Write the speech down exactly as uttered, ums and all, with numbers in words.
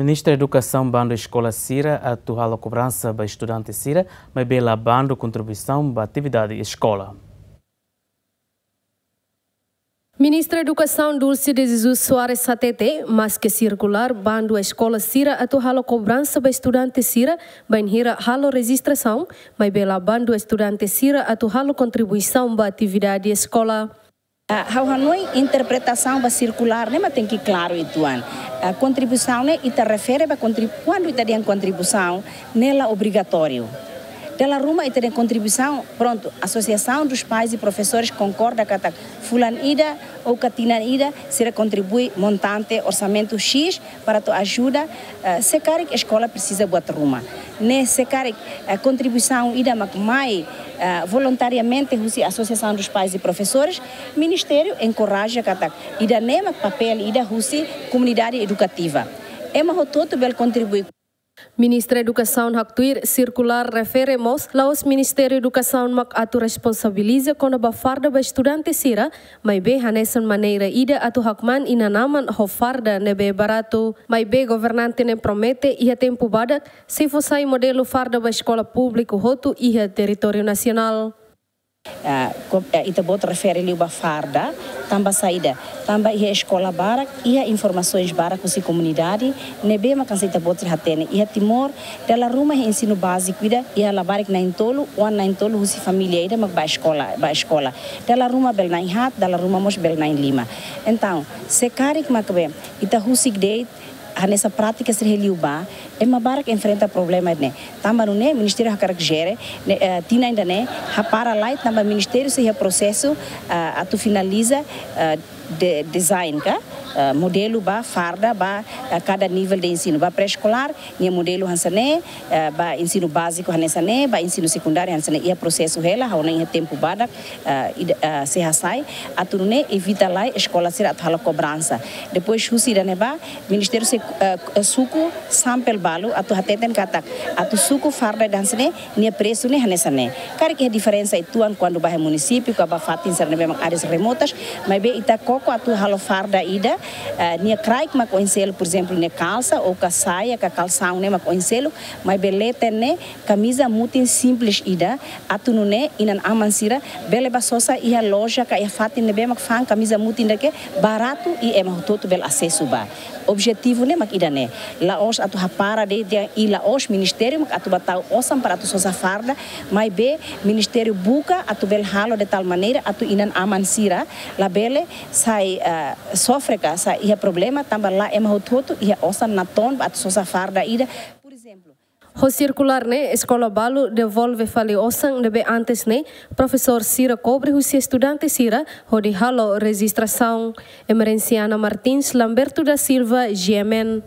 Ministra Edukasaun bandu eskola sira atu halo kobransa ba estudante sira, maibé la bandu kontribuisaun ba atividade eskola. Ministra Edukasaun Dulce de Jesus Soares hatete, maske sirkulár bandu eskola sira atu halo kobransa ba estudante sira bainhira halo rejistrasaun, maibé la bandu estudante sira atu halo kontribuisaun ba atividade eskola. Ah, ha'u hanoin interpretasaun ba sirkulár ne'e mak tenke klaru uitoan. Ah, kontribuisaun ne'e ita refere ba kontrib-, kuandu ita dehan kontribuisaun ne'e la obrigatóriu. Dala ruma ita dehan kontribuisaun, prontu, Associação dos Pais e Professores konkorda katak fulan ida ou ka tinan ida sira kontribui montante orsamentu X para atu ajuda, eh, se karik eskola presiza buat ruma. Ne'e se karik, eh, kontribuisaun ida mak mai, eh, voluntariamente husi Associação dos Pais e Professores, ministériu enkoraja katak ida-ne'e mak papél ida husi komunidade edukativa. Ema hotu-hotu bele kontribui. Ministra Edukasaun haktuir, sirkulár refere mós la'ós Ministériu Edukasaun mak atu responsabiliza kona-ba farda ba estudante sira, maibé hanesan maneira ida atu hakmaan inan-aman ho farda ne'ebé baratu. Maibé governante ne'e promete iha tempu badak sei fó sai modelu farda ba eskola públiku hotu iha territóriu nasionál. Ah, ko-, eh, ita-boot refere liu ba farda, tanba saida, tanba iha eskola barak iha informasoens barak husi komunidade ne'ebé mak hanesan ita-boot hatene iha Timor, dala ruma iha ensinu báziku ida iha labarik na'in-tolu, oan na'in-tolu husi família ida mak ba eskola, ba eskola. Dala ruma bele na'in-haat, dala ruma mós bele na'in-lima. Entaun, se karik mak be ita husik de'it hanesan prátika sira iha liubá, ema barak enfrenta problema ne'e. Tanba nune'e, ministériu hakarak jere, ne'e, eh, tinan ida-ne'e hapara lai, tanba ministériu sei iha prosesu, eh, atu finaliza, eh, de-, design ka, eh, modelu ba farda ba, eh, kada nivel de ensinu. Ba pré-eskolár, nia modelu hanesan ne'e, eh, ba ensinu báziku hanesan ne'e, ba ensinu sekundáriu hanesan ne'e, iha prosesu hela, ha'u hanoin iha tempu badak, eh, ida, eh, sei hasai, atu nune'e evita lai eskola sira atu halo kobransa. Depois husi ida-ne'e ba, ministériu sei, eh, suku sampel balu atu hateten katak, atu suku farda ida hanesan ne'e, nia presu ne'e hanesan ne'e. Karik iha diferensa uitoan kuandu ba iha munisípiu, ka ba fatin sira ne'ebé mak áreas remotas, maibé ita koko atu halo farda ida, eh, nia kraik mak oin seluk, por ezemplu, nia kalsa, ou ka saia, ka kalsaun ne'e mak oin seluk, maibé leten ne'e, kamiza mutin simples ida, atu nune'e inan-aman sira bele ba sosa iha loja ka iha fatin ne'ebé mak fa'an kamiza mutin ida ke baratu i ema hotu-hotu bele asesu ba. Objetivu ne'e mak ida-ne'e. La'ós atu hapara de'it dehan i la'ós ministériu mak atu ba tau osan para atu sosa farda, maibé ministériu buka atu bele halo de tal maneira atu inan-aman sira labele sai, eh, sofre ka sai iha problema tanba la ema hotu-hotu iha osan natoon ba atu sosa farda ida. Por ezemplu, ho sirkulár ne'e, eskola balu devolve fali osan ne'ebé antes ne'e profesór sira kobre husi estudante sira hodi halo rejistrasaun. Emerenciana Martins, Lamberto da Silva, G M N.